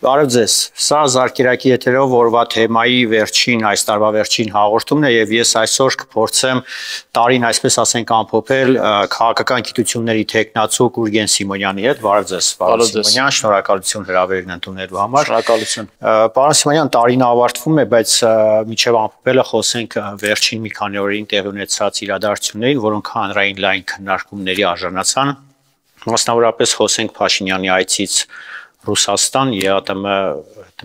Բարև ձեզ, սա Զարկերակի եթերով օրվա թեմայի այս տարվա վերջին հաղորդումն է եւ ես այսօր կփորձեմ տարին այսպես ասենք ամփոփել քաղաքական գիտությունների տեխնացու Գուրգեն Սիմոնյանի հետ։ Բարև ձեզ, պարոն Սիմոնյան, շնորհակալություն հրավերն ընդունելու համար։ Շնորհակալություն։ Պարոն Սիմոնյան, տարին ավարտվում է, բայց միջև ամփոփելը խոսենք վերջին մի քանի օրերին տեղի ունեցած իրադարձություններին, որոնք հանրային լայն քննարկումների արժանացան։ Մասնավորապես խոսենք Փաշինյանի այցից Ռուսաստան ԵԱՏՄ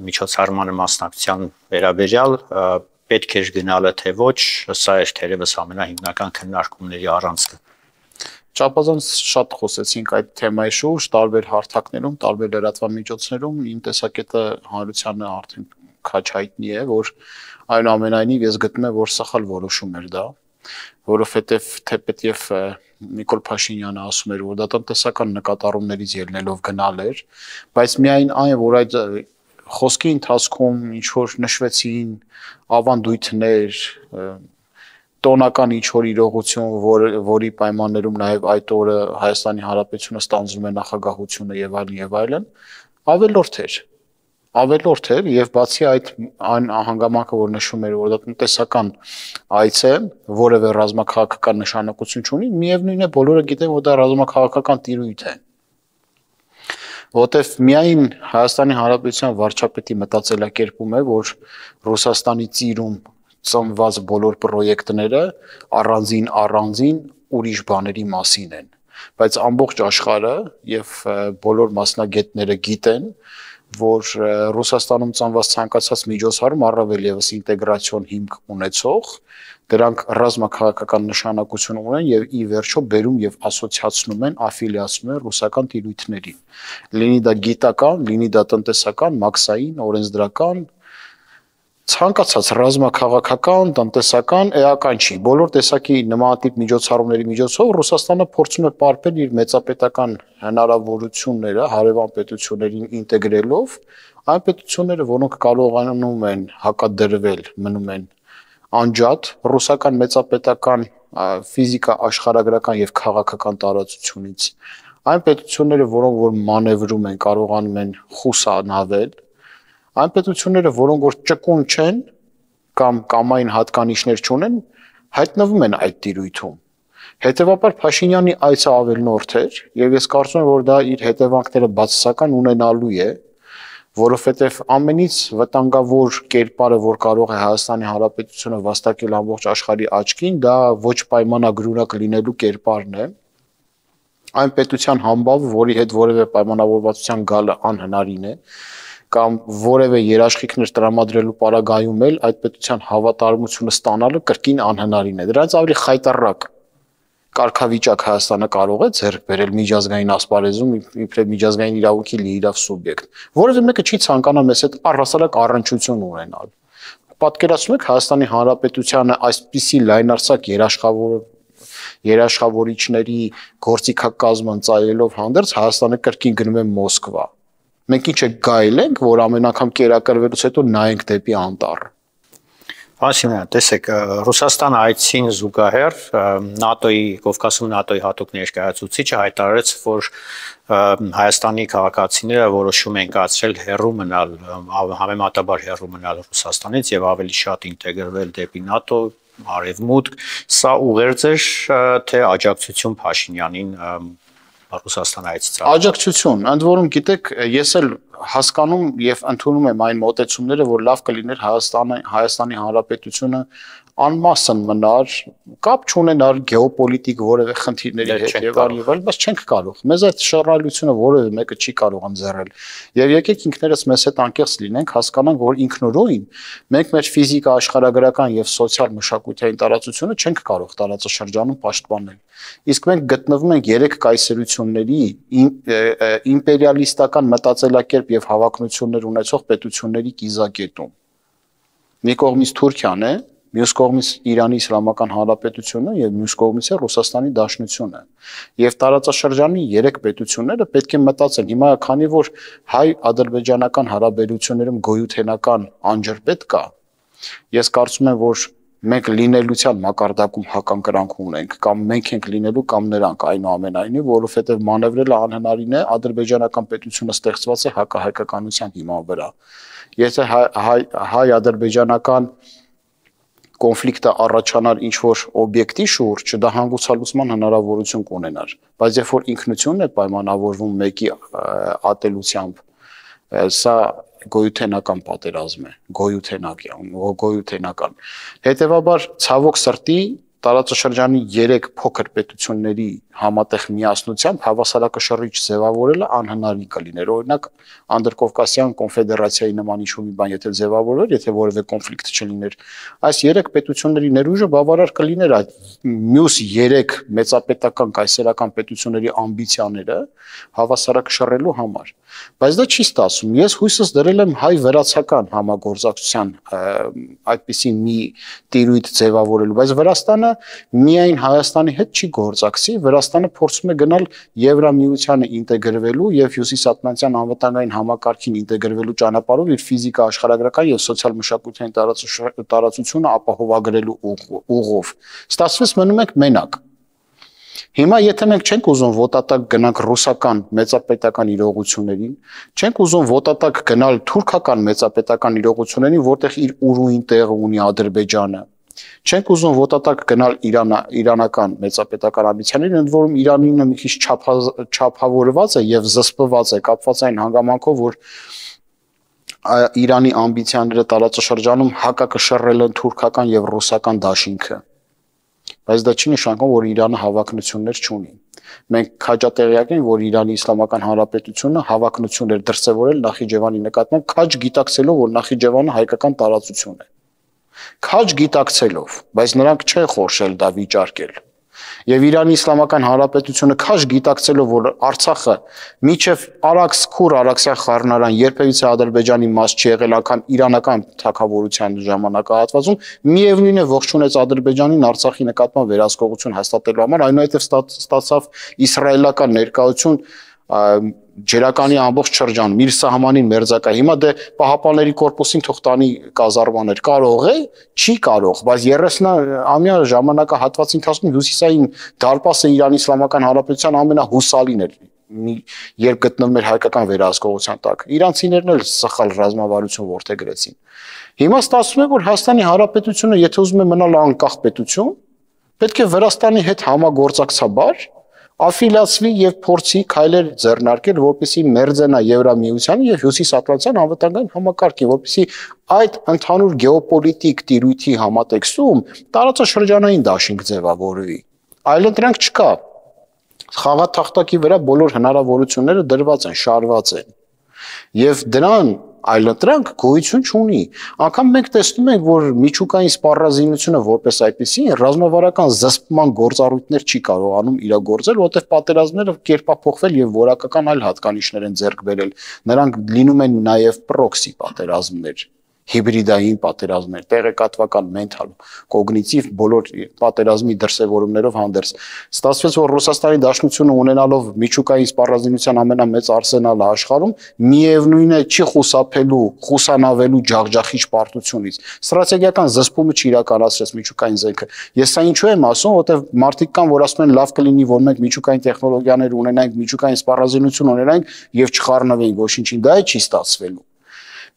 միջոցառմանը մասնակցության վերաբերյալ պետք էր գնալը թե ոչ, սա էր թերևս ամենահիմնական քննարկումների առանցքը։ Չափազանց շատ խոսեցինք այդ թեմայի շուրջ, տարբեր հարթակներում, տարբեր լրատվամիջոցներում, իմ տեսակետը հանրությանը արդեն քաչ հայտնի է, որ այնուամենայնիվ ես գտնում եմ, որ սխալ որոշում էր դա, որովհետև թեպետև Նիկոլ Փաշինյանը ասում էր, որ դա տնտեսական նկատառումներից ելնելով գնալ էր, բայց միայն այն, որ այդ խոսքի ընթացքում ինչ որ նշվեցին ավանդույթներ, տոնական ինչ որ իրողություն, որի պայմաններում նաև այդ օրը Հայաստանի Հանրապետությունը ստանձնում է նախագահությունը եւ այլն, ավելորդ էր եւ բացի այդ այն հանգամանքը, որ նշում էր, որ դա տնտեսական այց է, որևէ ռազմաքաղաքական նշանակություն չունի, միևնույն է բոլորը գիտեն, որ դա ռազմաքաղաքական տիրույթ է։ Որտեւ միայն Հայաստանի Հանրապետության վարչապետի մտածելակերպում է, որ Ռուսաստանի ծիրում ծնված բոլոր պրոյեկտները առանձին ուրիշ բաների մասին են, բայց ամբողջ աշխարհը եւ բոլոր մասնագետները գիտեն, որ Ռուսաստանում ծնված ցանկացած միջոցառում առավել եւս ինտեգրացիոն հիմք ունեցող, դրանք ռազմաքաղաքական նշանակություն ունեն եւ ի վերջո բերում եւ ասոցիացնում են, աֆիլիացնում են ռուսական տիրույթներին։ Լինի դա գիտական, լինի դա տնտեսական, մաքսային, օրենսդրական, ցանկացած ռազմաքաղաքական, տնտեսական, էական չի։ Բոլոր տեսակի նմանատիպ միջոցառումների միջոցով Ռուսաստանը փորձում է պարբել իր մեծապետական հնարավորությունները հարևան պետություններին ինտեգրելով, այն պետությունները, որոնք կարողանում են հակադրվել, մնում են անջատ ռուսական մեծապետական ֆիզիկա աշխարհագրական եւ քաղաքական տարածությունից, այն պետությունները, որոնք որ մանևրում են, կարողանում են խուսանավել, այն պետությունները, որոնք որ ճկուն չեն կամ կամային հատկանիշներ չունեն, հայտնվում են այդ տիրույթում։ Հետևաբար Փաշինյանի այցը ավելնորդ էր, եւ ես կարծում եմ, որ դա իր հետևանքները բացասական ունենալու է, որովհետեւ ամենից վտանգավոր կերպարը, որ կարող է Հայաստանի Հանրապետությունը վաստակել ամբողջ աշխարհի աչքին, դա ոչ պայմանագրունակ լինելու կերպարն է։ Այն պետության համբավ, որի հետ որևէ պայմանավորվածության գալը անհնարին է, կամ որևէ երաշխիքներ տրամադրելու պարագայում էլ այդ պետության հավատարմությունը ստանալը կրկին անհնարին է։ Դրանից ավելի խայտառակ կարգավիճակ Հայաստանը կարող է ձեռք բերել միջազգային ասպարեզում իբրև միջազգային իրավունքի լիիրավ սուբյեկտ։ Որևէ մեկը չի ցանկանա մեզ հետ առհասարակ առնչություն ունենալ։ Պատկերացնում եք Հայաստանի Հանրապետությանը այսպիսի լայնարձակ երաշխավորիչների գործիքակազմ ընծայելով հանդերձ Հայաստանը կրկին գնում է Մոսկվա։ Մենք ինչ է գայել ենք, որ ամեն անգամ կերակրվելուց հետո նայենք դեպի անտառ։ Ասիմյան, տեսեք, Ռուսաստան այցին զուգահեռ ՆԱՏՕ-ի, Կովկասում ՆԱՏՕ-ի հատուկ ներկայացուցիչը հայտարարեց, որ Հայաստանի քաղաքացիները որոշում են կայացրել հեռու մնալ, համեմատաբար հեռու մնալ Ռուսաստանից եւ ավելի շատ ինտեգրվել դեպի ՆԱՏՕ, արևմուտք, սա ուղերձ էր, թե աջակցություն Փաշինյանին Ռուսաստան այցից։ Աջակցություն, ընդ որում գիտեք, ես էլ հասկանում եւ ընդունում եմ այն մոտեցումները, որ լավ կլիներ Հայաստանի Հանրապետությունը անմասն մնար, կապ չունենար գեոպոլիտիկ որևէ խնդիրների հետ եւ այլն, բայց չենք կարող։ Մեզ այդ շռայլությունը որևէ մեկը չի կարող ընձեռել։ Եվ եկեք ինքներս մեզ հետ անկեղծ լինենք, հասկանանք, որ ինքնուրույն մենք մեր ֆիզիկա աշխարհագրական եւ սոցիալ մշակութային տարածությունը չենք կարող տարածաշրջանում պաշտպանել։ Իսկ մենք գտնվում ենք երեք կայսերությունների իմպերիալիստական մտածելակերպ եւ հավակնություններ ունեցող պետությունների կիզակետում։ Մի կողմից Թուրքիան է, մյուս կողմից Իրանի Իսլամական Հանրապետությունը եւ մյուս կողմից է Ռուսաստանի Դաշնությունը։ Եվ տարածաշրջանի երեք պետությունները պետք է մտածեն, հիմա քանի որ հայ-ադրբեջանական հարաբերություններում գոյութենական անջրպետ կա, ես կարծում եմ, որ մենք լինելության մակարդակում հականկրանք ունենք, կամ մենք ենք լինելու, կամ նրանք, այնուամենայնիվ, որովհետև մանևրելը անհնարին է, ադրբեջանական պետությունը ստեղծված է հակահայկականության հիման վրա։ Եթե հայ-ադրբեջանական կոնֆլիկտը առաջանար ինչ-որ օբյեկտի շուրջ, դա հանգուցալուծման հնարավորություն կունենար, բայց երբ որ ինքնությունն է պայմանավորվում մեկի ատելությամբ, սա գոյութենական պատերազմ է, գոյութենական։ Հետևաբար ցավոք սրտի տարածաշրջանի 3 փոքր պետությունների համատեղ միասնությամբ հավասարակշռիչ ձևավորելը անհնարին կլիներ։ Օրինակ Անդրկովկասյան կոնֆեդերացիայի նման ինչ-որ մի բան եթե ձևավորվեր, եթե որևէ կոնֆլիկտ չլիներ, այս 3 պետությունների ներուժը բավարար կլիներ այդ մյուս 3 մեծապետական կայսերական պետությունների ամբիցիաները հավասարակշռելու համար։ Բայց դա չի ստացվում։ Ես հույսս դրել եմ հայ-վրացական համագործակցության այդպիսի մի տիրույթ ձևավորելու, բայց Վրաստանը միայն Հայաստանի հետ չի գործակցի, Վրաստանը փորձում է գնալ Եվրամիությանը ինտեգրվելու եւ Հյուսիսատլանտյան անվտանգային համակարգին ինտեգրվելու ճանապարհով իր ֆիզիկա աշխարհագրական եւ սոցիալ-մշակութային տարածությունը ապահովագրելու ուղով։ Ստացվեց մնում ենք մենակ։ Հիմա եթե մենք չենք ուզում ոտատակ գնանք ռուսական մեծապետական իրողություններին, չենք ուզում ոտատակ գնալ թուրքական մեծապետական իրողություններին, որտեղ իր ուրույն տեղը ունի Ադրբեջանը, չենք ուզում ոտատակ գնալ իրանական մեծապետական ամբիցիաներին, ընդ որում Իրանինը մի քիչ չափավորված է եւ զսպված է, կապված այն հանգամանքով, որ Իրանի ամբիցիաները տարածաշրջանում հակակշռել են թուրքական եւ ռուսական դաշինքը։ Բայց դա չի նշանակում, որ Իրանը հավակնություններ չունի։ Մենք քաջատեղյակ ենք, որ Իրանի Իսլամական Հանրապետությունը հավակնություն էր դրսևորել Նախիջևանի նկատմամբ, քաջ գիտակցելով, որ Նախիջևանը հայկական տարածություն է։ Քաջ գիտակցելով, բայց նրանք չեն խորշել դա վիճարկել։ Եվ Իրանի Իսլամական Հանրապետությունը քաջ գիտակցելով, որ Արցախը միջև Արաքս-Քուր Արաքսյան խառնարան երբևիցե Ադրբեջանի մաս չի եղել, անգամ իրանական թագավորության ժամանակահատվածում, միևնույն է ողջունեց Ադրբեջանին Արցախի նկատմամբ վերահսկողություն հաստատելու համար, այնուհետև ստացավ իսրայելական ներկայություն ջերականի ամբողջ շրջան, իր սահմանին մերձակա։ Հիմա դե Պահապանների կորպուսին թող տանի կազարմաներ, կարող է, չի կարող, բայց 30-ամյա ժամանակահատվածի ընթացքում հյուսիսային դարպասը Իրանի Իսլամական Հանրապետության ամենահուսալին էր, երբ գտնվում էր հայկական վերահսկողության տակ։ Իրանցիներն էլ սխալ ռազմավարություն որդեգրեցին։ Հիմա ստացվում է, որ Հայաստանի Հանրապետությունը, եթե ուզում է մնալ անկախ պետություն, պետք է Վրաստանի հետ համագործակցաբար աֆիլիացվի եւ փորձի քայլեր ձեռնարկել, որպեսզի մերձենա Եվրամիությանը եւ Հյուսիսատլանտյան անվտանգային համակարգին, որպեսզի այդ ընդհանուր գեոպոլիտիկ տիրույթի համատեքստում տարածաշրջանային դաշինք ձևավորվի։ Այլընտրանք չկա։ Խաղաթախտակի վրա բոլոր հնարավորությունները դրված են, շարված են։ Եվ դրան այլընտրանք գոյություն չունի։ Անկամ մենք տեսնում ենք, որ միջուկային սպառազինությունը որպես այդպեսի ռազմավարական զսպման գործառույթներ չի կարողանում իրագործել, որտեղ պատերազմները կերպափոխվել եւ որակական այլ հատկանիշներ են ձեռք բերել։ Նրանք լինում են նաեւ պրոքսի պատերազմներ, հիբրիդային պատերազմներ, տեղեկատվական, մենթալ, կոգնիտիվ բոլոր պատերազմի դրսևորումներով հանդերձ։ Ստացվեց, որ Ռուսաստանի Դաշնությունը ունենալով միջուկային սպառազինության ամենամեծ արսենալը աշխարհում, միևնույն է չի խուսափելու, խուսանավելու ջախջախիչ պարտությունից։ Ստրատեգիական զսպումը չիրականացրեց միջուկային զենքը։ Ես սա ինչու եմ ասում, որովհետև մարդիկ կան, որ ասում են լավ կլինի, որ մենք միջուկային տեխնոլոգիաներ ունենանք, միջուկային սպառազինություն ունենանք եւ չխառնվենք ոչինչին, դա չի ստացվելու։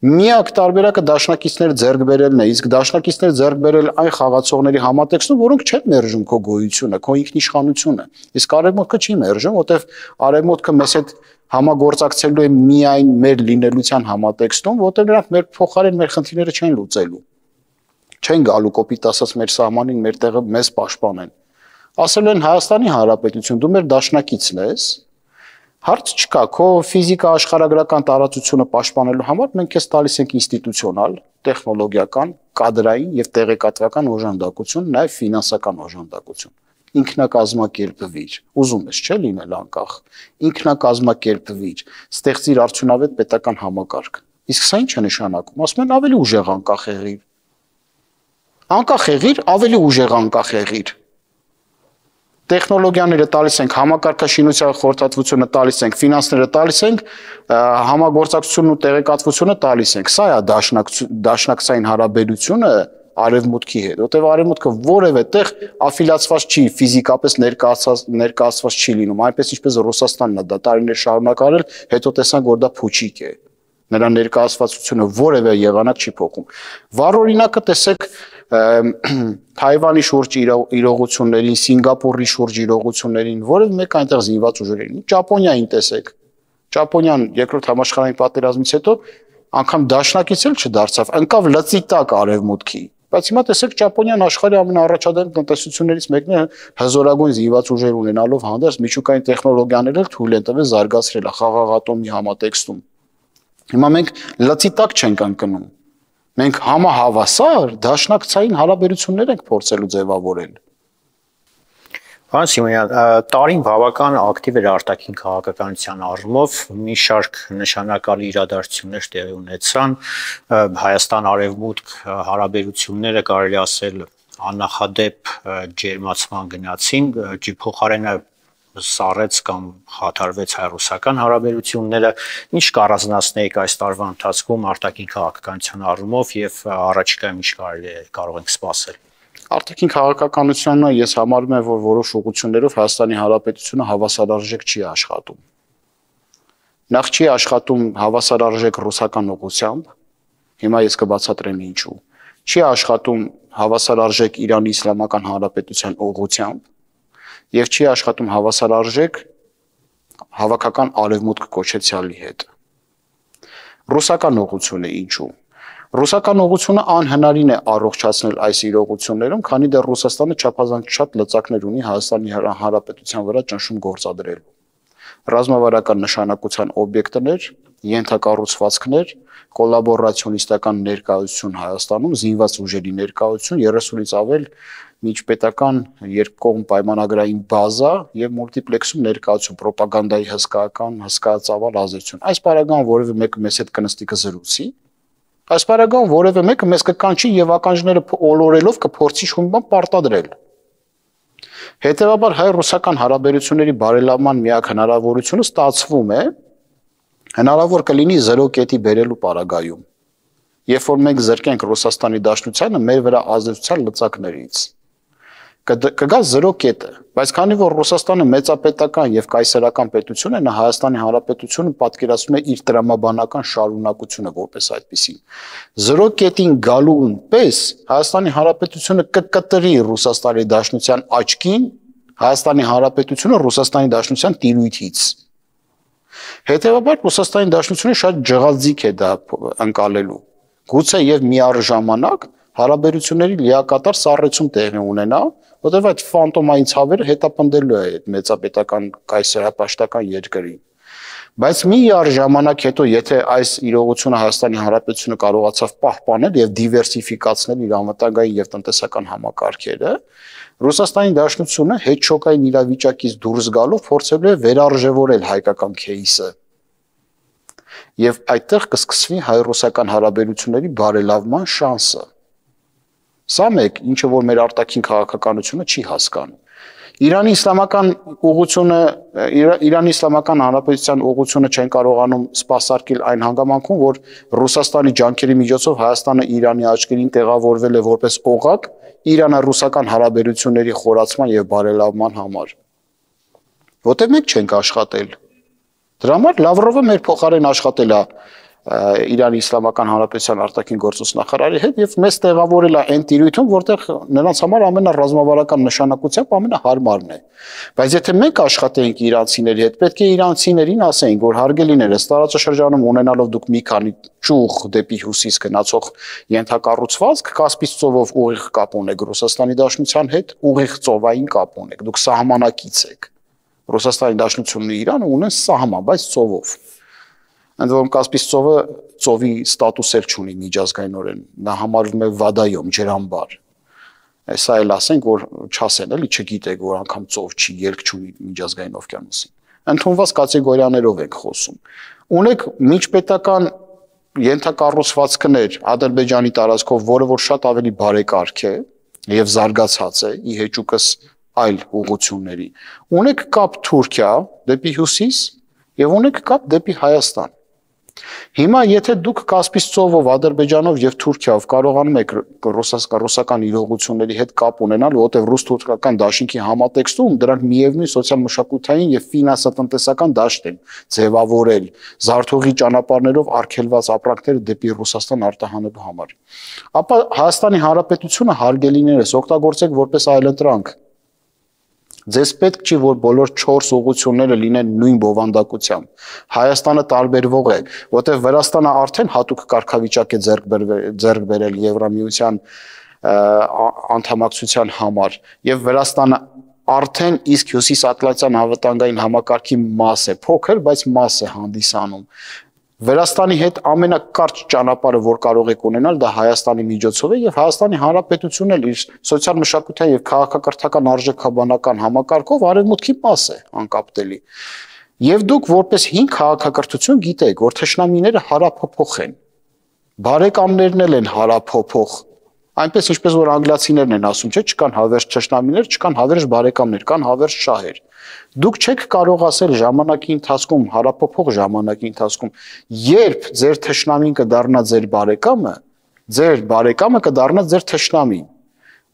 Միակ տարբերակը դաշնակիցներ ձեռք բերելն է, իսկ դաշնակիցներ ձեռք բերել այն խաղացողների համատեքստում, որոնք չեն մերժում քո գոյությունը, քո ինքնիշխանությունը։ Իսկ արևմուտքը չի մերժում, որտեվ արևմուտքը մեզ հետ համագործակցելու է միայն մեր լինելության համատեքստում, որտեղ նրանք մեր փոխարեն մեր խնդիրները չեն լուծելու։ Չեն գալու կոպիտ ասած մեր սահմանին, մեր տեղը մեզ պաշտպանեն։ Ասելու են Հայաստանի Հանրապետություն, դու մեր դաշնակիցն ես։ Հարց չկա, քո ֆիզիկա աշխարհագրական տարածությունը պաշտպանելու համար մենք քեզ տալիս ենք ինստիտուցիոնալ, տեխնոլոգիական, կադրային եւ տեղեկատվական օժանդակություն, նաեւ ֆինանսական օժանդակություն։ Ինքնակազմակերպվիր, ուզում ես չէ լինել անկախ, ինքնակազմակերպվիր, ստեղծիր արդյունավետ պետական համակարգ։ Իսկ սա ինչ է նշանակում, ասում են ավելի ուժեղ անկախ եղիր։ Անկախ եղիր, ավելի ուժեղ անկախ եղիր։ Տեխնոլոգիաները տալիս ենք, համակարգաշինության խորհրդատվությունը տալիս ենք, ֆինանսները տալիս ենք, համագործակցությունն ու տեղեկատվությունը տալիս ենք։ Սա է դաշնակցային հարաբերությունը արևմուտքի հետ, որտեղ արևմուտքը որևէ տեղ աֆիլիացված չի, ֆիզիկապես ներկայացված չի լինում, այնպես ինչպես Ռուսաստանն է դա տարիներ շարունակ արել, հետո տեսանք, որ դա փուչիկ է։ Նրա ներկայացվածությունը որևէ եղանակ չի փոխում։ Վառ օրինակը տեսեք Թայվանի շուրջ իրողություններին, Սինգապուրի շուրջ իրողություններին, որևէ մեկ այնտեղ զինված ուժերին, Ճապոնիային տեսեք։ Ճապոնիան երկրորդ համաշխարհային պատերազմից հետո անգամ դաշնակից էլ չդարձավ, ընկավ լծի տակ արևմուտքի։ Բայց հիմա տեսեք Ճապոնիան աշխարհի ամենաառաջադեմ տնտեսություններից մեկն է, հզորագույն զինված ուժեր ունենալով հանդերձ միջուկային տեխնոլոգիաները թույլ են տվել զարգացրել խաղաղ ատոմի համատեքստում։ Հիմա մենք լծի տակ չենք ընկնում։ Մենք համահավասար դաշնակցային հարաբերություններ ենք փորձելու ձևավորել։ Պարոն Սիմոնյան, տարին բավական ակտիվ էր արտաքին քաղաքականության առումով, մի շարք նշանակալի իրադարձություններ տեղի ունեցան, Հայաստան-Արևմուտք հարաբերությունները կարելի ասել աննախադեպ ջերմացման գնացին, փոխարենը սառեց կամ խաթարվեց հայ-ռուսական հարաբերությունները, ինչ կառանձնացնեիք այս տարվա ընթացքում արտաքին քաղաքականության առումով եւ առաջիկայում ինչ կարող ենք սպասել։ Արտաքին քաղաքականությունը ես համարում եմ, որ որոշ ուղղություններով Հայաստանի Հանրապետությունը հավասարարժեք չի աշխատում։ Նախ չի աշխատում հավասարարժեք ռուսական ուղղությամբ, հիմա ես կբացատրեմ ինչու։ Չի աշխատում հավասարարժեք Իրանի Իսլամական Հանրապետության ուղղությամբ եւ չի աշխատում հավասարարժեք հավաքական արևմուտք կոչեցյալի հետ։ Ռուսական ուղղությունը ինչու։ Ռուսական ուղղությունը անհնարին է առողջացնել այս իրողություններում, քանի դեռ Ռուսաստանը չափազանց շատ լծակներ ունի Հայաստանի Հանրապետության վրա ճնշում գործադրելու։ Ռազմավարական նշանակության օբյեկտներ, ենթակառուցվածքներ, կոլաբորացիոնիստական ներկայություն Հայաստանում, զինված ուժերի ներկայություն, 30-ից ավել միջպետական երկկողմ պայմանագրային բազա եւ մուլտիպլեքսում ներկայացում, ռոպագանդայի հսկայածավալ ազդեցություն։ Այս պարագան որևէ մեկը մեզ հետ կնստի կզրուցի, այս պարագան որևէ մեկը մեզ կկանչի եւ ականջները ոլորելով կփորձի շունբան պարտադրել։ Հետևաբար հայ-ռուսական հարաբերությունների բարելավման միակ հնարավորությունը ստացվում է հնարավոր կլինի 0 կետի բերելու պարագայում։ Երբ որ մենք զրկենք Ռուսաստանի Դաշնությանը մեր վրա ազդեցության լծակներից, կգա 0 կետը, բայց քանի որ Ռուսաստանը մեծապետական եւ կայսերական պետություն է, նա Հայաստանի Հանրապետությունը պատկերացնում է իր տրամաբանական շարունակությունը որպես այդպեսին։ 0 կետին գալուն պես Հայաստանի Հանրապետությունը կկտրի Ռուսաստանի Դաշնության աչքին, Հայաստանի Հանրապետությունը Ռուսաստանի Դաշնության տիրույթից։ Հետևաբար Ռուսաստանի Դաշնությունը շատ ջղազիկ է դա ընկալելու։ Գուցե եւ միառժամանակ հարաբերությունների լիակատար սառեցում տեղի ունենա, որտեղ այդ ֆանտոմային ցավերը հետապնդելու է այդ մեծապետական կայսերապաշտական երկրին։ Բայց միառժամանակ հետո, եթե այս իրողությունը Հայաստանի Հանրապետությունը կարողացավ պահպանել եւ դիվերսիֆիկացնել իր անվտանգային եւ տնտեսական համակարգերը, Ռուսաստանի Դաշնությունը հետ շոկային իրավիճակից դուրս գալով փորձելու է վերարժևորել հայկական քեյսը։ Եվ այդտեղ կսկսվի հայ-ռուսական հարաբերությունների բարելավման շանսը։ Սա մեկ, ինչը որ մեր արտաքին քաղաքականությունը չի հասկանում։ Իրանի Իսլամական Հանրապետության ուղղությունը չեն կարողանում սպասարկել այն հանգամանքում, որ Ռուսաստանի ջանքերի միջոցով Հայաստանը Իրանի աչքերին տեղավորվել է որպես օղակ Իրано-ռուսական հարաբերությունների խորացման եւ բարելավման համար։ Որտեղ մենք չենք աշխատել։ Դրա համար Լավրովը մեր փոխարեն աշխատել է Իրանի Իսլամական Հանրապետության արտաքին գործոս նախարարի հետ եւ մեզ տեղավորել է այն տիրույթում, որտեղ նրանց համար ամենառազմավարական նշանակությամբ ամենահարմարն է։ Բայց եթե մենք աշխատեինք իրանցիների հետ, պետք է իրանցիներին ասեինք, որ հարգելիներս տարածաշրջանում ունենալով դուք մի քանի ճուղ դեպի հյուսիս գնացող ենթակառուցվածք, Կասպից ծովով ուղիղ կապ ունեք Ռուսաստանի Դաշնության հետ, ուղիղ ծովային կապ ունեք, դուք սահմանակից եք։ Ռուսաստանի Դաշնությունն ու Իրանը ունեն սահման, բայց ծովով։ Ընդ որում Կասպից ծովը ծովի ստատուսեր չունի միջազգայինորեն, նա համարվում է վադայում, ջրամբար։ Սա էլ ասենք, որ չասեն, էլի չգիտեք, որ անգամ ծով չի, ելք չունի միջազգային օվկիանոսին։ Ընդունված կատեգորիաներով ենք խոսում։ Ունեք միջպետական ենթակառուցվածքներ Ադրբեջանի տարածքով, որը որ շատ ավելի բարեկարգ է եւ զարգացած է, ի հեճուկս այլ ուղղությունների։ Ունեք կապ Թուրքիա դեպի հյուսիս եւ ունեք կապ դեպի Հայաստան։ Հիմա եթե դուք Կասպից ծովով, Ադրբեջանով եւ Թուրքիայով կարողանում եք ռուսական իրողությունների հետ կապ ունենալ, որտեղ ռուս-թուրքական դաշինքի համատեքստում դրանք միևնույն սոցիալ-մշակութային եւ ֆինանսա-տնտեսական դաշտ են ձևավորել, զարթողի ճանապարհներով արգելված ապրանքները դեպի Ռուսաստան արտահանելու համար, ապա Հայաստանի Հանրապետությունը հարգելիներս օգտագործեք որպես այլընտրանք։ Ձեզ պետք չի, որ բոլոր 4 ուղղությունները լինեն նույն բովանդակությամբ։ Հայաստանը տարբերվող է, որտեղ Վրաստանը արդեն հատուկ կարգավիճակ է ձեռք բերել Եվրամիության անդամակցության համար, եւ Վրաստանը արդեն իսկ Հյուսիսատլանտյան անվտանգային համակարգի մաս է, փոքր, բայց մաս է հանդիսանում։ Վրաստանի հետ ամենակարճ ճանապարհը, որ կարող եք ունենալ, դա Հայաստանի միջոցով է եւ Հայաստանի Հանրապետությունն էլ իր սոցիալ-մշակութային եւ քաղաքակրթական արժեքաբանական համակարգով արևմուտքի մաս է անկապտելի։ Եվ դուք որպես 5 քաղաքակրթություն գիտեք, որ թշնամիները հարափոփող են։ Բարեկամներն էլ են հարափոփող։ Այնպես ինչպես որ անգլիացիներն են ասում, չէ, չկան հավերժ թշնամիներ, չկան հավերժ բարեկամներ, կան հավերժ շահեր։ Դուք չեք կարող ասել ժամանակի ընթացքում, հարափոփող ժամանակի ընթացքում, երբ ձեր թշնամին կդառնա ձեր բարեկամը կդառնա ձեր թշնամին։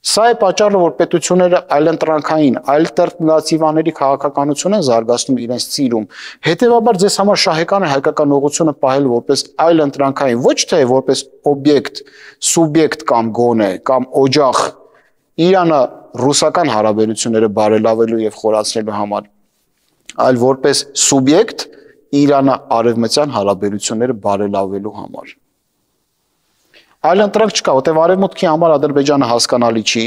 Սա է պատճառը, որ պետությունները այլընտրանքային, ալտերնատիվաների քաղաքականություն են զարգացնում իրենց ծիրում։ Հետևաբար ձեզ համար շահեկան է հայկական ուղղությունը պահել որպես այլընտրանքային, ոչ թե որպես օբյեկտ, սուբյեկտ կամ գոնե, կամ օջախ Իրանը ռուսական հարաբերությունները բարելավելու եւ խորացնելու համար, այլ որպես սուբյեկտ Իրանը արևմտյան հարաբերությունները բարելավելու համար։ Այլ ընտրանք չկա, որտեղ արևմուտքի համար Ադրբեջանը հասկանալի չի,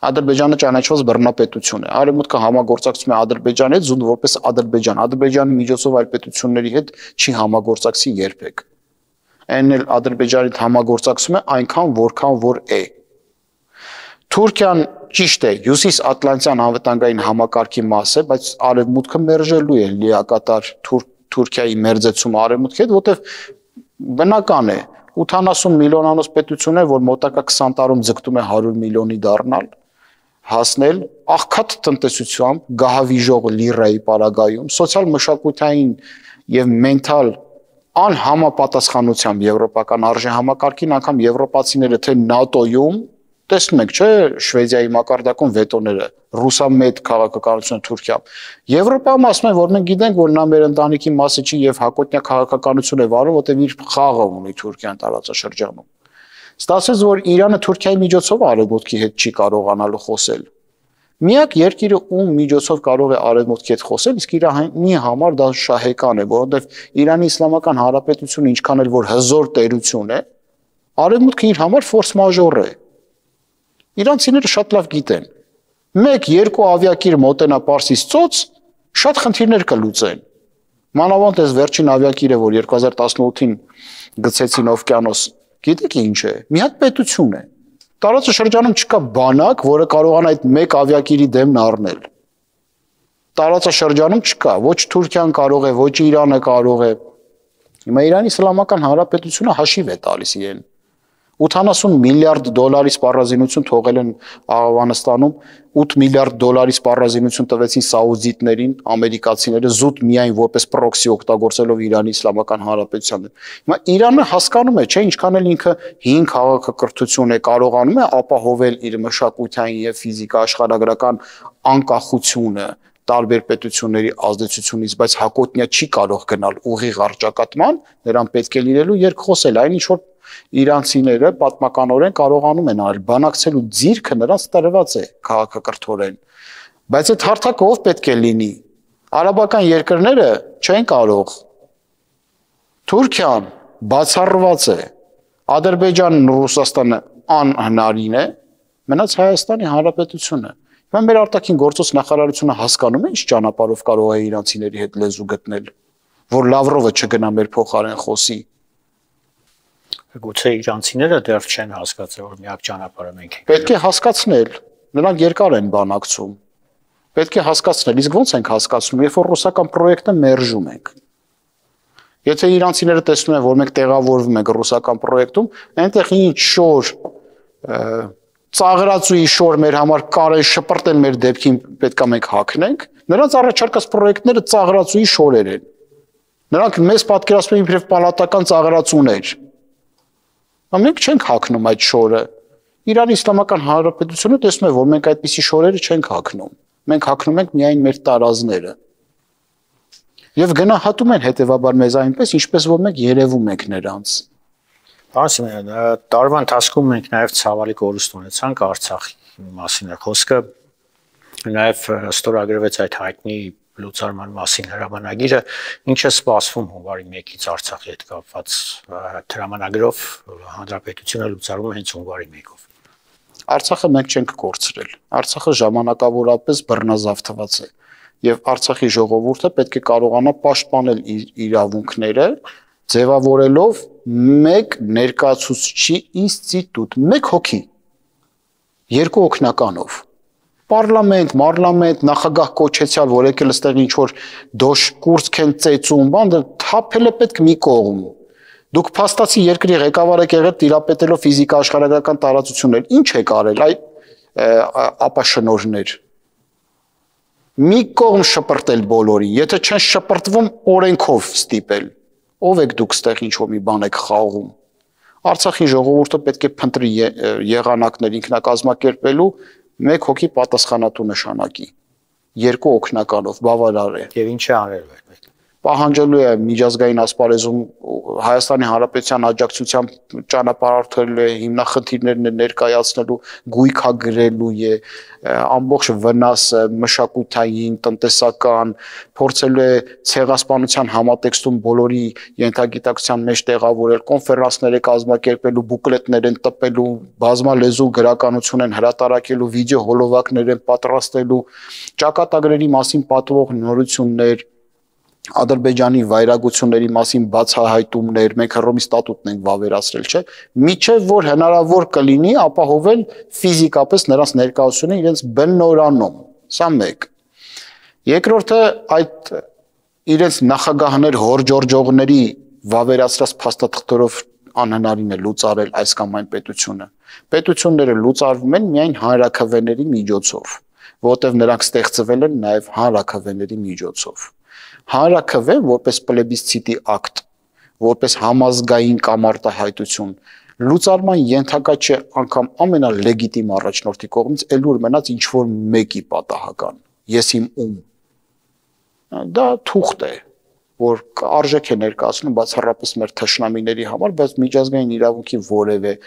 Ադրբեջանը ճանաչված բռնապետություն է, արևմուտքը համագործակցում է Ադրբեջանի հետ զուտ որպես Ադրբեջան, Ադրբեջանի միջոցով այլ պետությունների հետ չի համագործակցի երբեք։ Այն էլ Ադրբեջանի հետ համագործակցում է այնքան, որքան որ է։ Թուրքիան ճիշտ է, Հյուսիսատլանտյան անվտանգային համակարգի մաս է, բայց արևմուտքը մերժելու է լիակատար Թուրքիայի մերձեցումը արևմուտքի հետ, որտեղ բնական է 80 միլիոնանոց պետություն է, որ մոտակա 20 տարում ձգտում է 100 միլիոնի դառնալ, հասնել աղքատ տնտեսությամբ, գահավիժող լիրայի պարագայում, սոցիալ-մշակութային եւ մենթալ անհամապատասխանությամբ եվրոպական արժեհամակարգին, անգամ եվրոպացիները թե ՆԱՏՕ-ում տեսնում եք, չէ, Շվեդիայի մակարդակում վետոները, ռուսամետ քաղաքականությունը Թուրքիա։ Եվրոպայում ասում են, որ մենք գիտենք, որ նա մեր ընտանիքի մասը չի եւ հակոտնյա քաղաքականություն է վարում, որտեղ իր խաղը ունի Թուրքիան տարածաշրջանում։ Ստացվեց, որ Իրանը Թուրքիայի միջոցով արևմուտքի հետ չի կարողանալու խոսել։ Միակ երկիրը, ում միջոցով կարող է արևմուտքի հետ խոսել, իսկ Իրանի համար դա շահեկան է, որովհետեւ Իրանի Իսլամական Հանրապետությունը ինչքան էլ որ հզոր տերություն է, արևմուտքը իր համար ֆորս մաժոր է։ Իրանցիները շատ լավ գիտեն։ 1-2 ավիակիր մոտենա Պարսից ծոց, շատ խնդիրներ կլուծեն։ Մանավանդ այս վերջին ավիակիրը, որ 2018-ին գցեցին օվկիանոս, գիտեք ինչ է։ Մի հատ պետություն է։ Տարածաշրջանում չկա բանակ, որը կարողանա այդ 1 ավիակիրի դեմն առնել։ Տարածաշրջանում չկա, ոչ Թուրքիան կարող է, ոչ Իրանը կարող է։ Հիմա Իրանի Իսլամական Հանրապետությունը հաշիվ է տալիս իրեն։ 80 միլիարդ դոլարի սպառազինություն թողել են Աֆղանստանում, 8 միլիարդ դոլարի սպառազինություն տվեցին սաուդիտներին, ամերիկացիները զուտ միայն որպես պրոքսի օգտագործելով Իրանի Իսլամական Հանրապետությանը։ Հիմա Իրանը հասկանում է, չէ, ինչքան էլ ինքը 5 քաղաքակրթություն է կարողանում է ապահովել իր մշակութային եւ ֆիզիկա աշխարհագրական անկախությունը տարբեր պետությունների ազդեցությունից, բայց հակոտնյա չի կարող գնալ ուղիղ առճակատման, նրան պետք է լինելու երկխոսել, այն ինչ որ իրանցիները պատմականորեն կարողանում են արել, բանակցելու ձիրքը նրանց տրված է քաղաքակրթորեն, բայց այդ հարթակը ով պետք է լինի, արաբական երկրները չեն կարող, Թուրքիան բացառված է, Ադրբեջանն ու Ռուսաստանը անհնարին է, մնաց Հայաստանի Հանրապետությունը, հիմա մեր արտաքին գործոց նախարարությունը հասկանում է ինչ ճանապարհով կարող է իրանցիների հետ լեզու գտնել, որ Լավրովը չգնա մեր փոխարեն խոսի։ Գուցե իրանցիները դեռ չեն հասկացել, որ միակ ճանապարհը մենք ենք։ Պետք է հասկացնել, նրանք երկար են բանակցում։ Պետք է հասկացնել, իսկ ո՞նց ենք հասկացնում, երբ որ ռուսական պրոյեկտը մերժում ենք։ Եթե իրանցիները տեսնում են, որ մենք տեղավորվում ենք ռուսական պրոյեկտում, այնտեղ ինչ շոր ծաղրածուի շոր մեր համար կարել շպրտեն մեր դեպքին պետք է մենք հագնենք, նրանց առաջարկած պրոյեկտները ծաղրածուի շորեր են։ Նրանք մեզ պատկերացնում են իբրև պալատական ծաղրածուներ։ Մենք չենք հագնում այդ շորը։ Իրանի Իսլամական Հանրապետությունը տեսնում է, որ մենք այդպիսի շորերը չենք հագնում։ Մենք հագնում ենք միայն մեր տարազները։ Եվ գնահատում են հետևաբար մեզ այնպես, ինչպես որ մենք երևում ենք նրանց։ Ասում տարվա ընթացքում մենք նաև ցավալի կորուստ ունեցանք Արցախի մասին խոսքը, նաև ստորագրվեց այդ հայտնի լուծարման մասին հրամանագիրը, ինչը սպասվում հունվարի 1-ից Արցախի հետ կապված հրամանագրով հանրապետությունը լուծարվում է հենց հունվարի 1-ով։ Արցախը մենք չենք կորցրել։ Արցախը ժամանակավորապես բռնազավթված է, եւ Արցախի ժողովուրդը պետք է կարողանա պաշտպանել իր իրավունքները, ձևավորելով մեկ ներկայացուցչի ինստիտուտ, մեկ հոգի, երկու օգնականով։ Պարլամենտ, նախագահ կոչեցյալ, որ եկել այստեղ ինչ որ դոշ կուրսք են ծեծում, բանը թափել է պետք մի կողմ։ Դուք փաստացի երկրի ղեկավար եք եղել տիրապետելով ֆիզիկա աշխարհագրական տարածություններ։ Ինչ եք արել այ ապաշնորհներ։ Մի կողմ շպրտել բոլորին, եթե չեն շպրտվում օրենքով ստիպել։ Ով եք դուք ստեղ ինչ որ մի բան եք խաղում։ Արցախի ժողովուրդը պետք է փնտրի եղանակներ ինքնակազմակերպելու մեկ հոգի պատասխանատու նշանակի, երկու օգնականով բավարար է։ Եվ ինչ է արել այդ։ Պահանջելու է միջազգային ասպարեզում Հայաստանի Հանրապետության աջակցությամբ ճանապարհորդելու է, հիմնախնդիրներն ներկայացնելու, գույքագրելու է ամբողջ վնասը մշակութային, տնտեսական, փորձելու է ցեղասպանության համատեքստում բոլորի ենթագիտակցության մեջ տեղավորել, կոնֆերանսներ է կազմակերպելու, բուկլետներ են տպելու, բազմալեզու գրականություն են հրատարակելու, վիդեո հոլովակներ են պատրաստելու, ճակատագրերի մասին պատվող նորություններ, Ադրբեջանի վայրագությունների մասին բացահայտումներ, մենք Հռոմի ստատուտն ենք վավերացրել, չէ՞, միջև որ հնարավոր կլինի ապահովել ֆիզիկապես նրանց ներկայությունը իրենց բնորանում, սա մեկ։ Երկրորդը այդ իրենց նախագահներ հորջորջողների վավերացրած փաստաթղթերով անհնարին է լուծարել այս կամ այն պետությունը։ Պետությունները լուծարվում են միայն հանրաքվեների միջոցով, որտեղ նրանք ստեղծվել են նաև հանրաքվեների միջոցով։ Հանրաքվեն որպես պլեբիսցիտի ակտ, որպես համազգային կամ արտահայտություն, լուծարման ենթակա չէ անգամ ամենալեգիտիմ առաջնորդի կողմից, ելուր մնաց ինչ որ մեկի պատահական, ես իմ ում։ Դա թուղթ է, որ արժեք է ներկայացնում բացառապես մեր թշնամիների համար, բայց միջազգային իրավունքի որևէ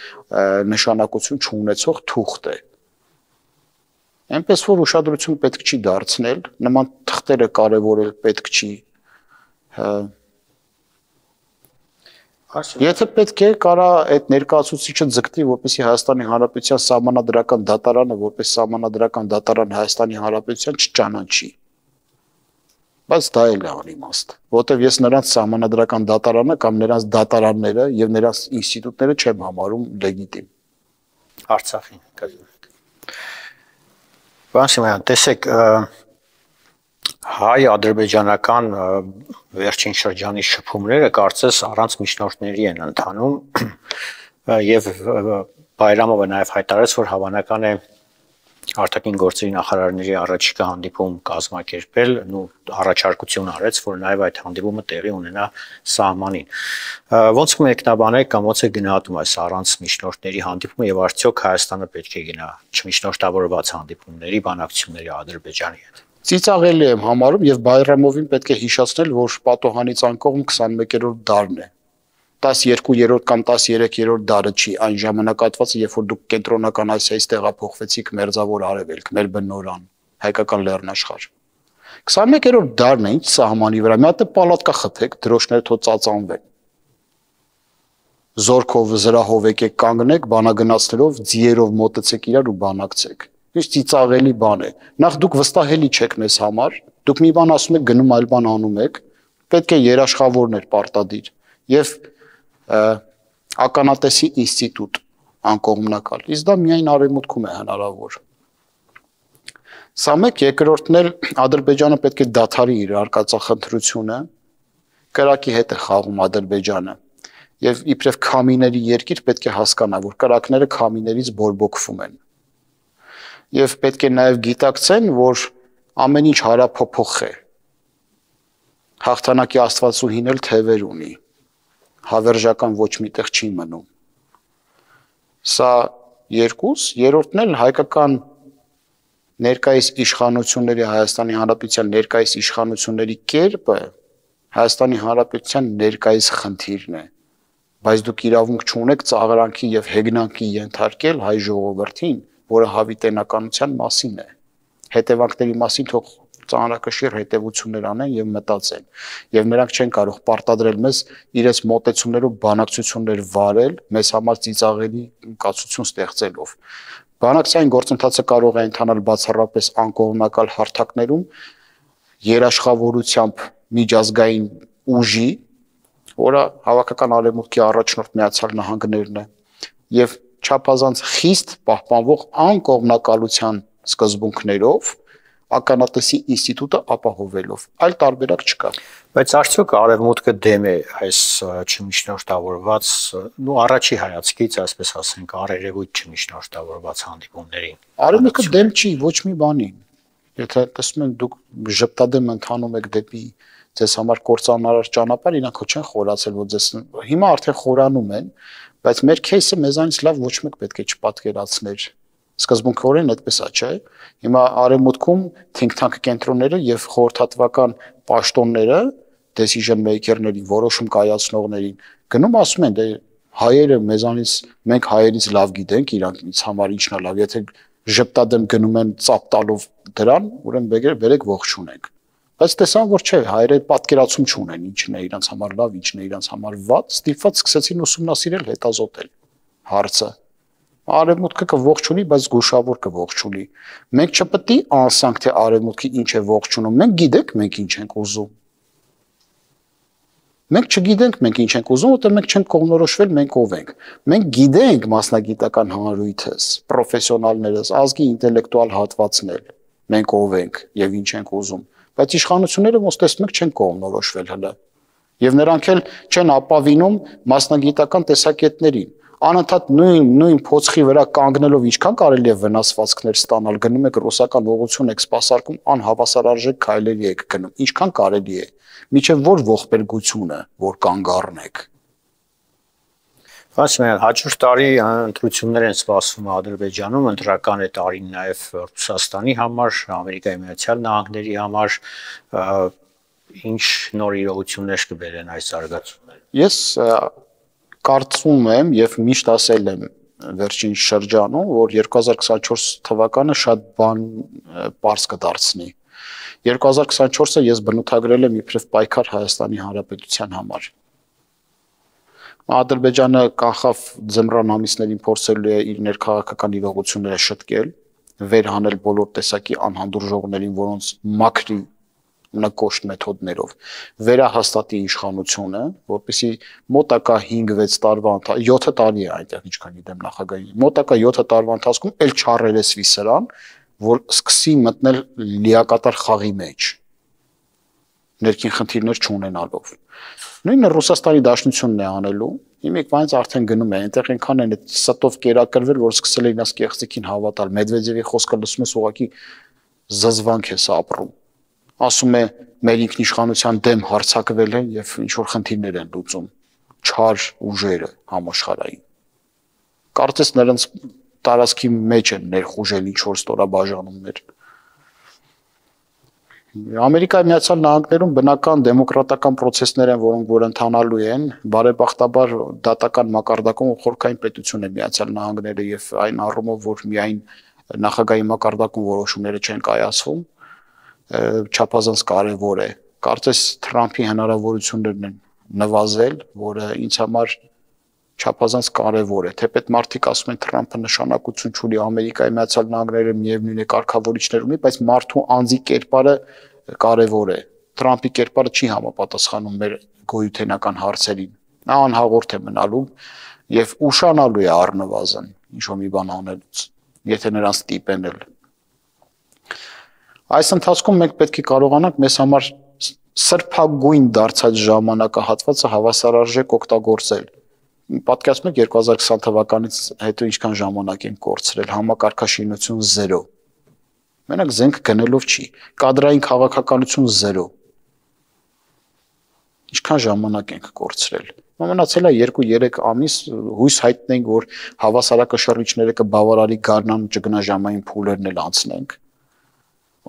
նշանակություն չունեցող թուղթ է։ Այնպես որ ուշադրություն պետք չի դարձնել, նման թղթերը կարևորել պետք չի։ Եթե պետք է, կարա այդ ներկայացուցիչը ձգտի, որպեսզի Հայաստանի Հանրապետության սահմանադրական դատարանը, որպես սահմանադրական դատարան Հայաստանի Հանրապետության չճանաչի։ Բայց դա էլ է անիմաստ, որտեղ ես նրանց սահմանադրական դատարանը կամ նրանց դատարանները եւ նրանց ինստիտուտները չեմ համարում լեգիտիմ։ Արցախին կազմում։ Բանսիմյան, տեսեք, հայ-ադրբեջանական վերջին շրջանի շփումները կարծես առանց միջնորդների են ընթանում եւ Բայրամովը նաեւ հայտարարեց, որ հավանական է արտաքին գործերի նախարարների առաջիկա հանդիպում կազմակերպել, առաջարկություն արեց, որ նաեւ այդ հանդիպումը տեղի ունենա սահմանին։ Ոնց կմեկնաբանեք կամ ոնց է գնահատում այս առանց միջնորդների հանդիպումը եւ արդյոք Հայաստանը պետք է գնա չմիջնորդավորված հանդիպումների, բանակցությունների Ադրբեջանի հետ։ Ծիծաղելի եմ համարում եւ Բայրամովին պետք է հիշեցնել, որ պատոհանից անկողմ 21-րդ դարն է։ 12-րդ կամ 13-րդ դարը չի այն ժամանակահատվածը, երբ որ դուք կենտրոնական Ասիայից տեղափոխվեցիք Մերձավոր Արևելք, մեր բնորան, հայկական լեռնաշխարհ։ 21-րդ դարն է, ինչ սահմանի վրա, մի հատ պալատկա խփեք, դրոշները թո ծածանվեն։ Զորքով, զրահով եկեք կանգնեք, բանագնացներով, ձիերով մոտեցեք իրար ու բանակցեք։ Ինչ ծիծաղելի բան է։ Նախ դուք վստահելի չեք մեզ համար, դուք մի բան ասում եք, գնում այլ բան անում եք, պետք է երաշխավորներ պարտադիր եւ ականատեսի ինստիտուտ անկողմնակալ։ Իսկ դա միայն արևմուտքում է հնարավոր։ Սա մեկ, երկրորդն էլ Ադրբեջանը պետք է դադարի իր արկածախնդրությունը, կրակի հետ է խաղում Ադրբեջանը եւ իբրև քամիների երկիր պետք է հասկանա, որ կրակները քամիներից բորբոքվում են։ Եվ պետք է նաև գիտակցեն, որ ամեն ինչ հարափոփոխ է։ Հաղթանակի Աստվածուհին էլ թևեր ունի, հավերժական ոչ միտեղ չի մնում։ Սա երկուս, երրորդն էլ հայկական ներկայիս իշխանությունների, Հայաստանի Հանրապետության ներկայիս իշխանությունների կերպը Հայաստանի Հանրապետության ներկայիս խնդիրն է, բայց դուք իրավունք չունեք ծաղրանքի եւ հեգնանքի ենթարկել հայ ժողովրդին, որը հավիտենականության մասին է։ Հետևանքների մասին թող ծանրակշիռ հետևություններ անեն եւ մտածեն, եւ նրանք չեն կարող պարտադրել մեզ իրենց մոտեցումներով բանակցություններ վարել, մեզ համար ծիծաղելի կացություն ստեղծելով։ Բանակցային գործընթացը կարող է ընթանալ բացառապես անկողմնակալ հարթակներում, երաշխավորությամբ միջազգային ուժի, որը հավաքական արևմուտքի առաջնորդ Միացյալ Նահանգներն է, եւ չափազանց խիստ պահպանվող անկողմնակալության սկզբունքներով ականատեսի ինստիտուտը ապահովելով, այլ տարբերակ չկա։ Բայց արդյոք արևմուտքը դեմ է այս չմիջնորդավորված, առաջի հայացքից, այսպես ասենք, առերևույթ չմիջնորդավորված հանդիպումներին։ Արևմուտքը դեմ չի ոչ մի բանի։ Եթե տեսնում եք դուք ժպտադեմ ընթանում եք դեպի ձեզ համար կործանարար ճանապարհ, իրանք չեն խորացել, որ ձեզ հիմա արդեն խորանում են, բայց մեր кейսը մեզանից լավ ոչ մեկ պետք է չպատկերացներ։ Սկզբունքորեն այդպես է, չէ՞։ Հիմա արևմուտքում think tank կենտրոնները եւ խորհրդատվական պաշտոնները, decision maker-ներին, որոշում կայացնողներին գնում ասում են, դե հայերը մեզանից, մենք հայերից լավ գիտենք, իրանքից համար ինչն է լավ, եթե ժպտադեմ գնում են ծափ տալով դրան, ուրեմն բերեք ողջունենք։ Բայց տեսան, որ չէ, հայերը պատկերացում չունեն ինչն է իրանց համար լավ, ինչն է իրանց համար վատ, ստիպված սկսեցին ուսումնասիրել, հետազոտել հարցը։ Արևմուտքը կողջունի, բայց զգուշավոր կողջունի։ Մենք չպետք է անսանք, թե արևմուտքը ինչ է ողջունում։ Մենք գիտենք, մենք ինչ ենք ուզում։ Մենք չգիտենք, մենք ինչ ենք ուզում, որտեղ մենք չենք կողմնորոշվել, մենք ով ենք։ Մենք գիտենք մասնագիտական հանրույթս, պրոֆեսիոնալներս, ազգի ինտելեկտուալ հատվածն էլ, մենք ով ենք եւ ինչ ենք ուզում։ Բայց իշխանությունները ոնց տեսնում եք չեն կողմնորոշվել հələ։ Եվ նրանք էլ չեն ապավինում մասնագիտական տեսակետներին։ Անընդհատ նույն փոცხի վրա կանգնելով ինչքան կարելի է վնասվածքներ ստանալ, գնում եք ռուսական ուղղություն եք սպասարկում, անհավասարարժեք քայլերի եք գնում, ինչքան կարելի է, միջև որ ողբերգությունը, որ կանգ առնեք։ Վասիլյան, հաջորդ տարի ընտրություններ են սպասվում Ադրբեջանում, ընտրական է տարին նաև Ռուսաստանի համար, Ամերիկայի Միացյալ Նահանգների համար, ինչ նոր իրողություններ կբերեն այս զարգացումները։ Ես կարծում եմ եւ միշտ ասել եմ վերջին շրջանում, որ 2024 թվականը շատ բան պարզ կդարձնի։ 2024-ը ես բնութագրել եմ իբրև պայքար Հայաստանի Հանրապետության համար։ Ադրբեջանը կանխավ ձմռան ամիսներին փորձելու է իր ներքաղաքական իրողությունները շտկել, վերհանել բոլոր տեսակի անհանդուրժողներին, որոնց մաքրի նկոշտ մեթոդներով վերահաստատի իշխանությունը, որպեսզի մոտակա 5-6 տարվա 7 տարի է այնտեղ ինչքան գիտեմ նախագահի, մոտակա 7 տարվա ընթացքում էլ չառերեսվի սրան, որ սկսի մտնել լիակատար խաղի մեջ, ներքին խնդիրներ չունենալով։ Նույնը Ռուսաստանի Դաշնությունն է անելու, իմիք վայից արդեն գնում է, այնտեղ այնքան են ստով կերակրվել, որ սկսել է իրաց կեղծիքին հավատալ, Մեդվեդևի խոսքը լսում ես ուղղակի զզվանք ես ապրում։ Ասում է մեր ինքնիշխանության դեմ հարձակվել են եւ ինչ որ խնդիրներ են լուծում չար ուժերը համաշխարհային։ Կարծես նրանց տարածքի մեջ են ներխուժել ինչ որ ստորաբաժանումներ։ Ամերիկայի Միացյալ Նահանգներում բնական դեմոկրատական process-ներ են, որոնք որ ընթանալու են, բարեբախտաբար դատական մակարդակում խորքային պետություն է Միացյալ Նահանգները եւ այն առումով, որ միայն նախագահի մակարդակում որոշումները չեն կայացվում, չափազանց կարևոր է։ Կարծես Թրամփի հնարավորություններն են նվազել, որը ինձ համար չափազանց կարևոր է։ Թեպետ մարդիկ ասում են Թրամփը նշանակություն չունի, Ամերիկայի Միացյալ Նահանգները միևնույն է կարգավորիչներ ունի, բայց մարդու անձի կերպարը կարևոր է։ Թրամփի կերպարը չի համապատասխանում մեր գոյութենական հարցերին։ Նա անհաղորդ է մնալու եւ ուշանալու է առնվազն ինչ-որ մի բան անելուց, եթե նրանց ստիպեն էլ։ Այս ընթացքում մենք պետք է կարողանանք մեզ համար սրբագույն դարձած ժամանակահատվածը հավասարարժեք օգտագործել։ Պատկերացնում եք 2020 թվականից հետո ինչքան ժամանակ են կորցրել, համակարգաշինություն 0։ Մենակ զենք գնելով չի, կադրային քաղաքականություն 0։ Ինչքան ժամանակ ենք կորցրել։ Մնացել է 2-3 ամիս, հույս հայտնենք, որ հավասարակշռիչները կբավարարի գարնան ճգնա ժամային փուլերն էլ անցնենք,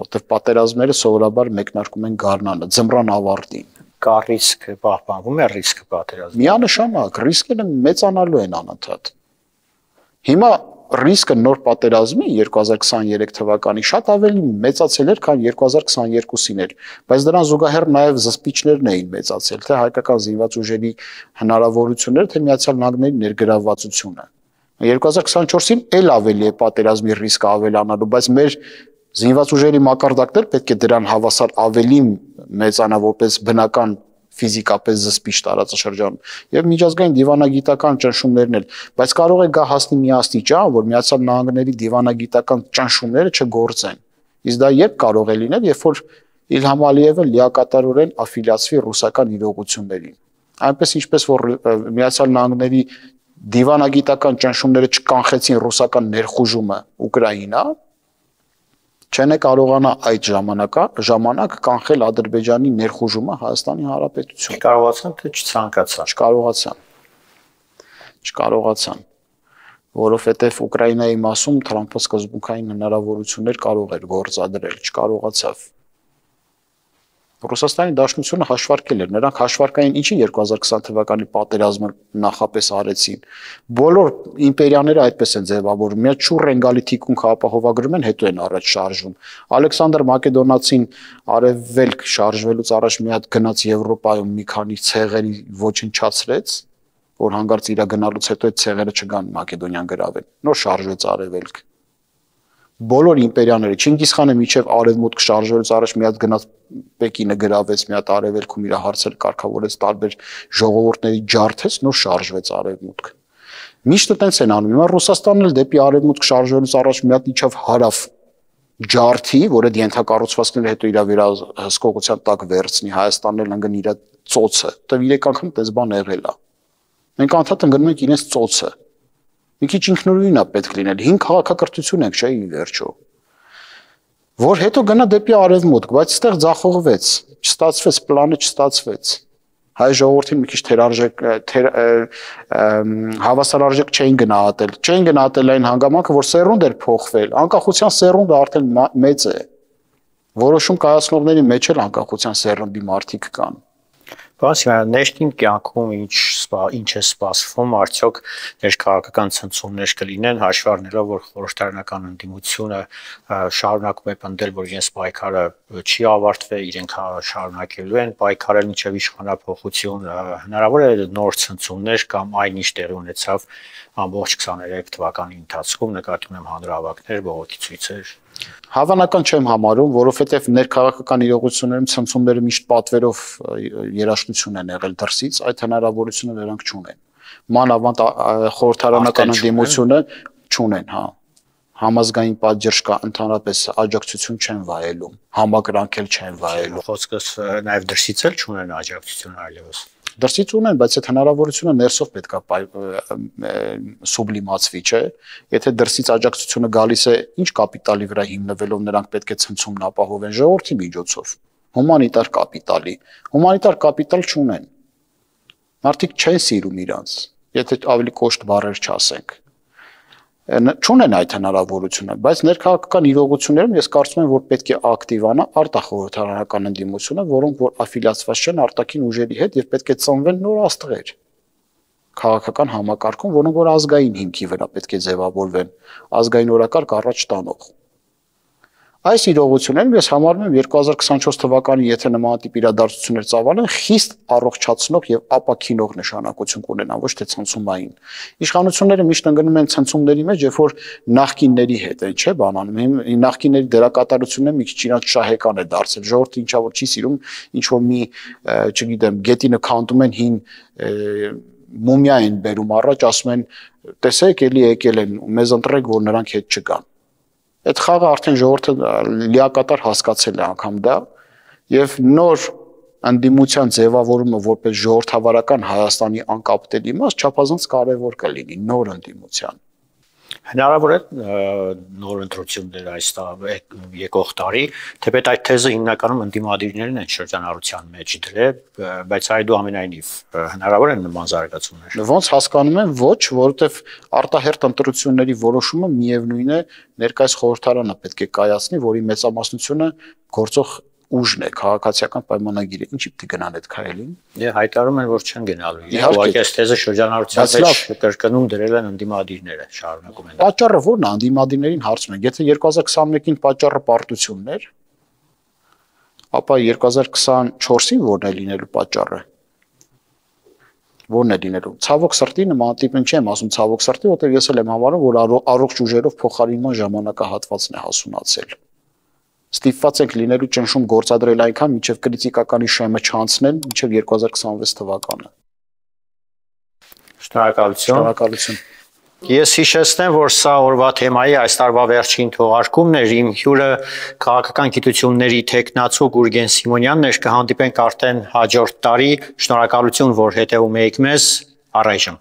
որտեղ պատերազմները սովորաբար մեկնարկում են գարնանը, ձմռան ավարտին։ Կա ռիսկ, պահպանվում է ռիսկը պատերազմի։ Միանշանակ ռիսկերը մեծանալու են անընդհատ։ Հիմա ռիսկը նոր պատերազմի 2023 թվականի շատ ավելի մեծացել էր, քան 2022-ին էր, բայց դրան զուգահեռ նաև զսպիչներն էին մեծացել, թե հայկական զինված ուժերի հնարավորությունները, թե Միացյալ Նահանգների ներգրավվածությունը։ 2024-ին էլ ավելի է պատերազմի ռիսկը ավելանալու, բայց մեր զինված ուժերի մակարդակներ պետք է դրան հավասար ավելի մեծանա որպես բնական ֆիզիկապես զսպիչ տարածաշրջանում եւ միջազգային դիվանագիտական ճնշումներն էլ, բայց կարող է գա հասնի մի աստիճան, որ Միացյալ Նահանգների դիվանագիտական ճնշումները չգործեն։ Իսկ դա երբ կարող է լինել, երբ որ Իլհամ Ալիևը լիակատարորեն աֆիլիացվի ռուսական իրողություններին։ Այնպես ինչպես որ Միացյալ Նահանգների դիվանագիտական ճնշումները չկանխեցին ռուսական ներխուժումը Ուկրաինա, չեն կարողանա այդ ժամանակ կանխել Ադրբեջանի ներխուժումը Հայաստանի Հանրապետություն։ Կարողացան, թե չցանկացան։ Չկարողացան, որովհետև Ուկրաինայի մասում Թրամփը սկզբունքային հնարավորություններ կարող էր գործադրել, չկարողացավ։ Ռուսաստանի Դաշնությունը հաշվարկել էր, նրանք հաշվարկային ինչի 2020 թվականի պատերազմը նախապես արեցին։ Բոլոր իմպերիաները այդպես են ձևավորվում, մի հատ շուռ են գալի թիկունքը ապահովագրում են, հետո են առաջ շարժվում։ Ալեքսանդր Մակեդոնացին արևելք շարժվելուց առաջ մի հատ գնաց Եվրոպայում մի քանի ցեղերի ոչնչացրեց, որ հանկարծ իր գնալուց հետո այդ ցեղերը չգան Մակեդոնիան գրավեն։ Նոր շարժվեց արևելք։ Բոլոր իմպերիաները Չինգիզ խանը միջև արևմուտք շարժվելուց առաջ մի հատ գնաց Պեկինը գրավեց, մի հատ արևելքում իր հարցերը կարգավորեց, տարբեր ժողովուրդների ջարդեց, նոր շարժվեց արևմուտք։ Միշտ այդպես են անում։ Հիմա Ռուսաստանն էլ դեպի արևմուտք շարժվելուց առաջ մի հատ իջավ հարավ ջարդի, որը ենթակառուցվածքները հետո իր վերահսկողության տակ վերցնի, Հայաստանն էլ ընկնի իր ծոցը։ Դա 3 անգամ այդպես բան եղել է։ Մենք անդադ ընկնում ենք իրենց ծոցը։ Մի քիչ ինքնուրույն է պետք լինել, 5 քաղաքակրթություն ենք, չէ՞ ի վերջո։ Որ հետո գնա դեպի արևմուտք, բայց այստեղ ձախողվեց, չստացվեց, պլանը չստացվեց։ Հայ ժողովրդին մի քիչ հավասարարժեք չէին գնահատել այն հանգամանքը, որ սերունդ էր փոխվել, անկախության սերունդը արդեն մեծ է։ Որոշում կայացնողների մեջ էլ անկախության սերունդի մարդիկ կան։ Բացի ներքին կյանքում ինչ է սպասվում, արդյոք ներքաղաքական ցնցումներ կլինեն, հաշվի առնելով, որ խորհրդարանական ընդդիմությունը շարունակում է պնդել, որ իրենց պայքարը չի ավարտվել, իրենք շարունակելու են պայքարել մինչև իշխանափոխություն, հնարավոր է նոր ցնցումներ կամ այն ինչ տեղի ունեցավ ամբողջ 23 թվականի ընթացքում, նկատի ունեմ հանրահավաքներ, բողոքի ցույցեր։ Հավանական չեմ համարում, որովհետև ներքաղաքական իրողություններում ցնցումները միշտ պատվերով երաշխություն են եղել դրսից, այդ հնարավորությունը նրանք չունեն։ Մանավանդ խորհրդարանական ընդդիմությունը չունեն, հա։ Համազգային պատժ կա, ընդհանրապես աջակցություն չեն վայելում, համակրանքել չեն վայելում։ Խոսքս նաև դրսից էլ չունեն աջակցություն այլևս։ Դրսից ունեն, բայց այդ հնարավորությունը ներսով պետք է սուբլիմացվի, չէ՞։ Եթե դրսից աջակցությունը գալիս է, ինչ կապիտալի վրա հիմնվելով նրանք պետք է ցնցումն ապահովեն ժողովրդի միջոցով։ Հումանիտար կապիտալի։ Հումանիտար կապիտալ չունեն։ Մարդիկ չեն սիրում իրանց, եթե ավելի կոշտ բառեր չասենք։ Չունեն այդ հնարավորությունը, բայց ներքաղաքական իրողություններում ես կարծում եմ, որ պետք է ակտիվանա արտախորհրդարանական ընդդիմությունը, որոնք որ աֆիլիացված չեն արտաքին ուժերի հետ եւ պետք է ծնվեն նոր աստղեր քաղաքական համակարգում, որոնք որ ազգային հիմքի վրա պետք է ձևավորվեն, ազգային օրակարգ առաջ տանող։ Այս իրողություններում ես համարում եմ 2024 թվականի եթե նմանատիպ իրադարձություններ ծավալեն, խիստ առողջացնող եւ ապաքինող նշանակություն կունենան, ոչ թե ցնցումային։ Իշխանությունները միշտ ընկնում են ցնցումների մեջ, երբ որ նախկինների հետ են, չէ՞, բանանում։ Նախկինների դերակատարությունը մի քիչ իրանց շահեկան է դարձել։ Ժողովուրդը ինչա որ չի սիրում, ինչ որ մի, չգիտեմ, գետինը քանդում են հին մումիա են բերում առաջ, ասում են, տեսեք, էլի եկել են, մեզ ընտրեք, որ նրանք հետ չգան։ Այդ խաղը արդեն ժողովուրդը լիակատար հասկացել է անգամ դա եւ նոր ընդդիմության ձևավորումը որպես ժողովրդավարական Հայաստանի անկապտելի մաս չափազանց կարեւոր կլինի նոր ընդդիմության։ Հնարավոր է նոր ընտրություններ այս եկող տարի, թեպետ այդ թեզը հիմնականում ընդդիմադիրներն են շրջանառության մեջ դրել, բայց այդուամենայնիվ հնարավոր են նման զարգացումներ։ Ոնց հասկանում եմ, ոչ, որովհետև արտահերթ ընտրությունների որոշումը միևնույն է ներկայիս խորհրդարանը պետք է կայացնի, որի մեծամասնությունը գործող ուժն է, քաղաքացիական պայմանագիրը, ինչի պիտի գնան այդ քայլին։ Դե հայտարարում են, որ չեն գնալու։ Ուղղակի այս թեզը շրջանառության մեջ կրկնում դրել են ընդդիմադիրները, շարունակում են։ Պատճառը ո՞րն է ընդդիմադիրներին հարցնում են։ Եթե 2021-ին պատճառը պարտությունն էր, ապա 2024-ին ո՞րն է լինելու պատճառը։ Ո՞րն է լինելու։ Ցավոք սրտի նման տիպն չեմ ասում ցավոք սրտի, որտեղ ես էլ եմ համարում, որ առողջ ուժերով փոխարինման ժամանակահատվածն է հասունացել։ Ստիպված ենք լինելու ճնշում գործադրել այնքան, մինչև կրիտիկականի շեմը չանցնեն, մինչև 2026 թվականը։ Շնորհակալություն։ Ես հիշեցնեմ, որ սա օրվա թեմայի այս տարվա վերջին թողարկումն էր, իմ հյուրը քաղաքական գիտությունների թեկնածու Գուրգեն Սիմոնյանն էր, կհանդիպենք արդեն հաջորդ տարի, շնորհակալություն, որ հետևում եք մեզ, առայժմ։